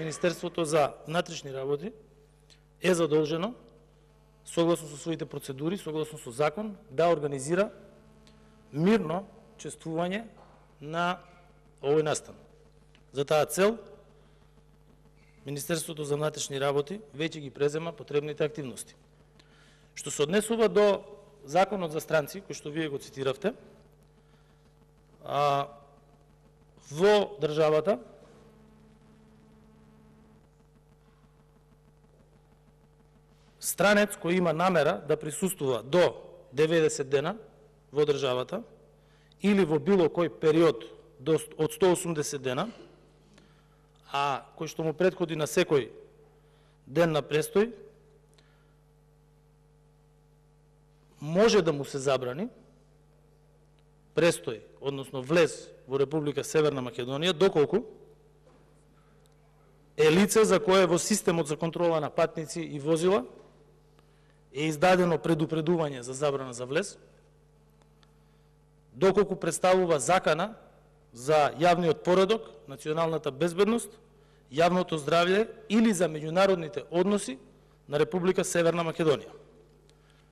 Министерството за внатрешни работи е задолжено, согласно со своите процедури, согласно со закон, да организира мирно чествување на овој настан. За таа цел, Министерството за внатрешни работи веќе ги презема потребните активности. Што се однесува до Законот за странци, кој што вие го цитиравте, во државата странец кој има намера да присуствува до 90 дена во државата или во било кој период од 180 дена, а кој што му претходи на секој ден на престој, може да му се забрани престој, односно влез во Република Северна Македонија, доколку е лице за кое во системот за контрола на патници и возила е издадено предупредување за забрана за влез, доколку представува закана за јавниот поредок, националната безбедност, јавното здравје или за меѓународните односи на Република Северна Македонија.